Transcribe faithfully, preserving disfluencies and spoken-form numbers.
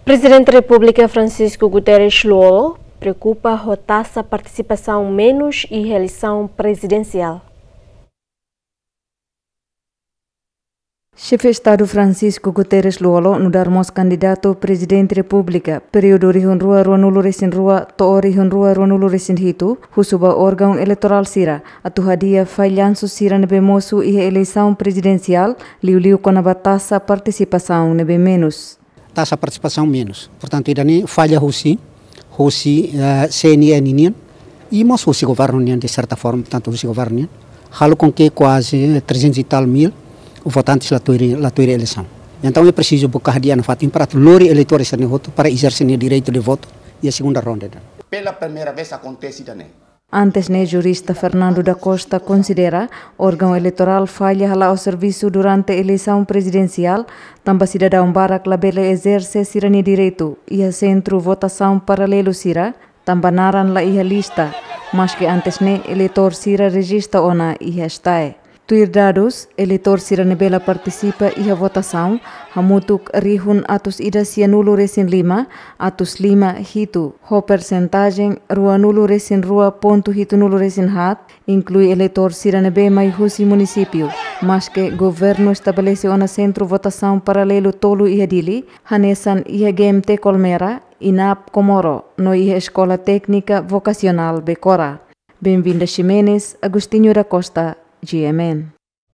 Prezidente Repúblika Francisco Guterres Lú-Olo preokupa ho taxa partisipasaun menus iha eleisaun prezidensiál. Xefe Estadu Francisco Guterres Lú-Olo nu'udar mós kandidatu Prezidente Repúblika períodu rihun rua ruanulu-resin-rua to'o rihun rua ruanulu-resin-hitu husu ba órgaun eleitorál sira atu hadi'a fallansu sira ne'ebé mosu iha eleisaun prezidensiál, liuliu kona-ba taxa partisipasaun ne'ebé menus. Taxa partisipasaun menus. Portantu, ida-ne'e falla husi, husi, eh, C N E nian, i mós husi governu nian, de certa forma, portantu, husi governu nian. Halo com que quase trezentos e tal mil votantes la tuir, la tuir eleisaun. Entaun, é preciso buka hadi'a nafatin para atu lori eleitór sira-ne'e hotu para ezerse nia direitu de votu iha segunda ronda. Pela primeira vez acontece também. Antes ne'e, jurista Fernando da Costa konsidera órgaun eleitorál falla hala'o servisu durante eleisaun prezidensiál, tanba sidadaun barak labele ezerse sira-nia direitu iha sentru votasaun paralelu sira, tanba naran la iha lista, maske antes ne'e eleitór sira rejista ona iha STAE. Tuir dadus, eleitór sira ne'ebé la partisipa iha votasaun hamutuk rihun atus ida sianulu-resin-lima, atus lima hitu, ho persentajen ruanulu-resin-rua pontu hitunulu-resin-haat, inklui eleitór sira ne'ebé mai husi munisípiu, maske governu estabelese ona sentru votasaun paralelu tolu iha Dili, hanesan iha G M T Colmera, INAP Comoro, no iha Eskola Téknika Vokasionál Becora. Benvinda Ximenes, Agostinho da Costa, G M N.